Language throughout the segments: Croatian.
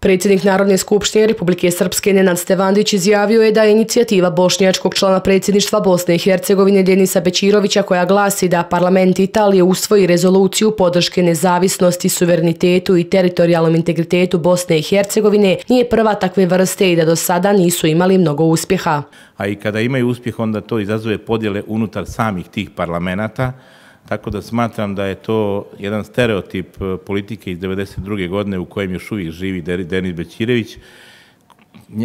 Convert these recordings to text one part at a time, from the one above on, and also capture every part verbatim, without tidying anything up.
Predsjednik Narodne skupštine Republike Srpske Nenad Stevandić izjavio je da je inicijativa bošnjačkog člana predsjedništva Bosne i Hercegovine Denisa Bećirovića koja glasi da parlament Italije usvoji rezoluciju podrške nezavisnosti, suverenitetu i teritorijalnom integritetu Bosne i Hercegovine nije prva takve vrste i da do sada nisu imali mnogo uspjeha. A i kada imaju uspjeh, onda to izazove podjele unutar samih tih parlamenata. Tako da smatram da je to jedan stereotip politike iz devedeset druge godine u kojem još uvijek živi Denis Bećirović.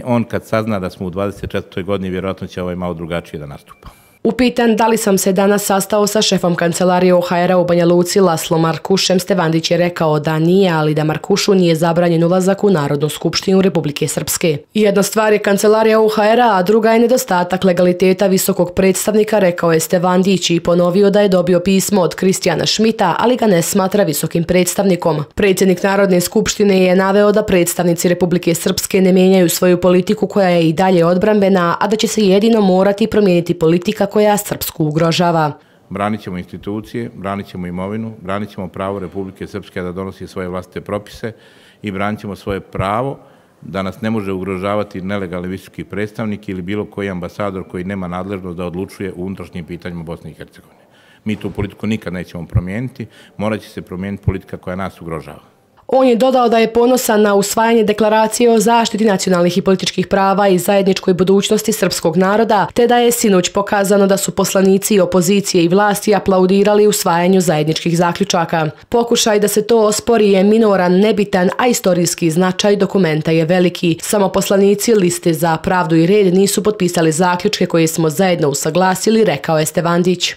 On kad sazna da smo u dvadeset četvrtoj godini, vjerojatno će ovaj malo drugačije da nastupa. Upitan da li sam se danas sastao sa šefom kancelarije O H R-a u Banja Luci Laslo Markušem, Stevandić je rekao da nije, ali da Markušu nije zabranjen ulazak u Narodnu skupštinu Republike Srpske. Jedna stvar je kancelarija O H R-a, a druga je nedostatak legaliteta visokog predstavnika, rekao je Stevandić i ponovio da je dobio pismo od Kristijana Šmita, ali ga ne smatra visokim predstavnikom. Predsjednik Narodne skupštine je naveo da predstavnici Republike Srpske ne mijenjaju svoju politiku koja je i dalje odbrambena, a da će se jedino morati promijeniti politika koja Srpsku ugrožava. Branit ćemo institucije, branit ćemo imovinu, branit ćemo pravo Republike Srpske da donosi svoje vlastite propise i branit ćemo svoje pravo da nas ne može ugrožavati nelegalni visoki predstavnik ili bilo koji ambasador koji nema nadležnost da odlučuje u unutrašnjim pitanjima Bosne i Hercegovine. Mi tu politiku nikad nećemo promijeniti, morat će se promijeniti politika koja nas ugrožava. On je dodao da je ponosan na usvajanje deklaracije o zaštiti nacionalnih i političkih prava i zajedničkoj budućnosti srpskog naroda, te da je sinoć pokazano da su poslanici opozicije i vlasti aplaudirali usvajanju zajedničkih zaključaka. Pokušaj da se to ospori je minoran, nebitan, a istorijski značaj dokumenta je veliki. Samo poslanici Liste za pravdu i red nisu potpisali zaključke koje smo zajedno usaglasili, rekao je Stevandić.